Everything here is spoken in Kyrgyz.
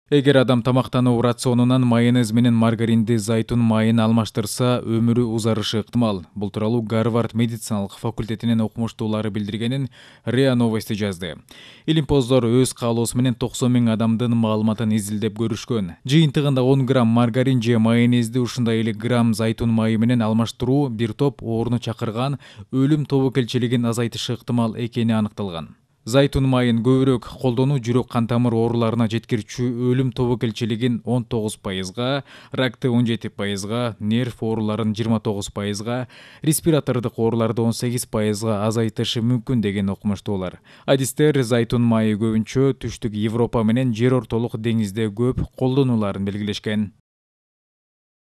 Эгер адам тамактануу рационунан майонез менен маргаринди, зайтун майын алмаштырса, өмүрү узарышы ыктымал. Бул тууралуу Гарвард медициналык факультетинин окумуштуулары билдиргенин РИА Новости жазды. Илимпоздор өз каалоосу менен 90 000 адамдын маалыматын изилдеп көрүшкөн. Жыйынтыгында 10 грамм маргарин же майонезди ушундай эле грамм зайтун майы менен алмаштыруу бир топ ооруну чакырган өлүм тобокелчилигин азайтышы ыктымал экени аныкталган. Зайтун майын көбүрөөк колдонуу жүрөк кан тамыр ооруларына жеткирүүчү өлүм тобокелчилигин 19%, ракты 17%, нерв ооруларын 29%, респиратордук ооруларды 18% азайтышы мүмкүн деген окумуштуулар. Адистер зайтун майы көбүнчө Түштүк Европа менен жер ортолук деңизде көп колдонуларын белгилешкен.